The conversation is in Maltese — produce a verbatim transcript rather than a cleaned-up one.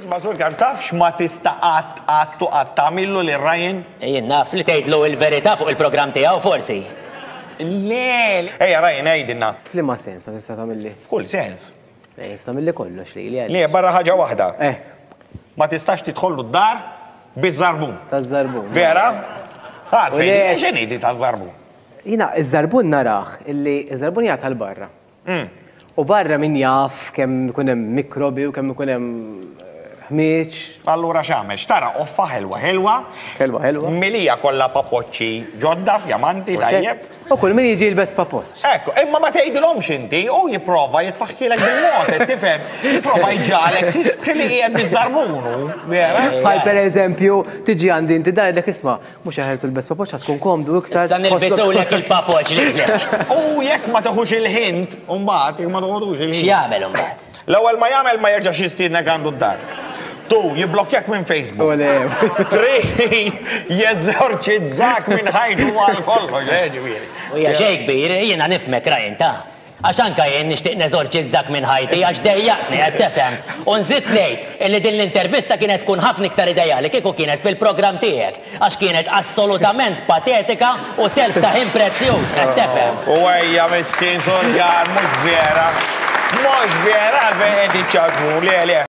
Isma', Sur Karm, taf x'ma tista' qatt qatt u qatt tagħmillu lil Ryan? Jien naf li tgħidlu il-verità fuq il-programm tiegħu forsi. Le, ejja Ryan, għidilna. F'liema sens ma tista' tagħmilli? F'kull sens. Le, tista' tagħmilli kollox li li. Le, barra ħaġa waħda. Eh. Ma tistax tidħollu d-dar biż-żarbun. Taż-żarbun. Vera? Għalfejn, U le- x'inhi di taż-żarbun? Jiena, iż-żarbun narah illi iż-żarbun jgħat għal barra. U barra min jaf kemm ikun hemm mikrobi u kemm ikun hemm eh, ħmieġ. Allura x'għamel? Xtara qoffa ħelwa ħelwa. Ħelwa ħelwa. Milija kollha papoċċi ġodda fjamanti tajjeb. U kull min jiġi jilbes papoċċ. Ekku, imma ma tgħidilhomx inti, u jipprova jitfaħħilek bil-mod, qed tifhem, jipprova jġagħlek tistħi li qiegħed biż-żarbunu, vera? Bħal per eżempju, tiġi għandi inti dajlek, isma', mhux aħjar tilbes papoċċ, tkun komdu iktar. Issa nilbisulek il-papoċ lilek. U jekk ma teħux il-hint, u mbagħad jekk ma teħux il-hint. X'jagħmel imbagħad? L-ewwel ma jagħmel, ma jerġax jistiednek għandu d-dar. Tu, jiblokkjak minn Facebook. U le. Three, jeżorċizzak minn ħajtu għal kollox, eh, ġifieri. U hija xejn kbir, jiena nifhmek, Ryan, ta' għax anka jien nixtieq neżorċizzak minn ħajti għax dejjaqtni, qed tifhem. U nżid ngħid illi din l-intervista kienet tkun ħafna iktar ideali kieku kienet fil-programm tiegħek, għax kienet assolutament patetika u telf ta' ħin prezzjuż, qed tifhem. U ejja miskin Sur Karm, mhux vera. Mhux vera, għalfejn qed iċċaċmu, le, le.